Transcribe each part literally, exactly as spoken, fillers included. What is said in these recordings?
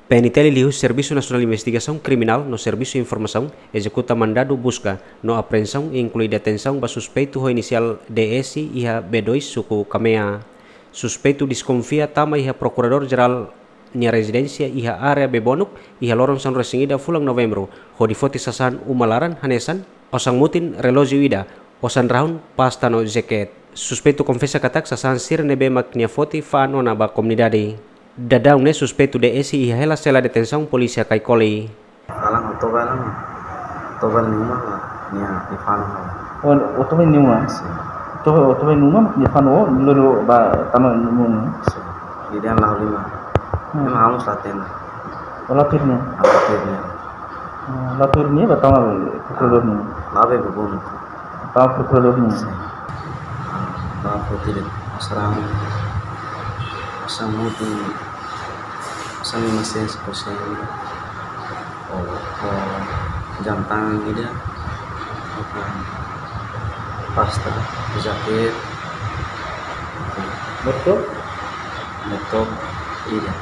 P N T L liuhusi Servisu Nasionál Investigasaun Kriminál no Servisu Informasaun ezekuta mandadu buska no apreensaun, inklui detensaun ba suspeitu ho inisiál D S iha B dois, suku Kamea. Suspeitu deskonfia tama iha Prokuradór Jerál nia rezidénsia iha área Bebonuk iha loron sanulu-resin-ida fulan Novembru, hodi foti sasán uma laran hanesan osan mutin, relójiu ida, osan rahun, pasta no jaket. Suspeitu konfesa katak sasán sira ne'ebé mak nia foti fa'an ona ba komunidade. Daudaun ne'e suspeitu D S iha hela sela detensaun polísia Kaikoli. Alang otoba lang, otoba nia uma, nia ifan. Oh, otoba nia uma. Sin. Otoba, otoba nia uma, nia ifan o, lolo ba tama nia uma. Sin. Ida-ne'e la'o liman. Hmm. Ema hamus la hatene. Oh, la hatene. La hatene. Hmm, la hatene ba tama prokuradór nian. La be bubun. Tama prokuradór nian. Sin. Ba foti de'it osan, osan mutin, osan lima sen, sepuluh sen. Oh, oh, jam tangan ida, oke, pasta, jaket, laptop, laptop ida.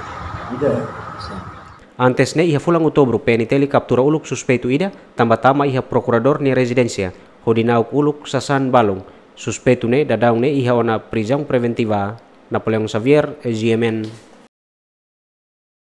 Ida. Sin. Antes ne'e iha fulan Outubru, P N T L kaptura uluk suspeitu ida, tanba tama iha Prokuradór nia rezidénsia, hodi na'ok uluk sasán balun. Suspeitu ne'e daudaun ne'e iha ona prizaun preventiva. Napoleão Xavier, G M N.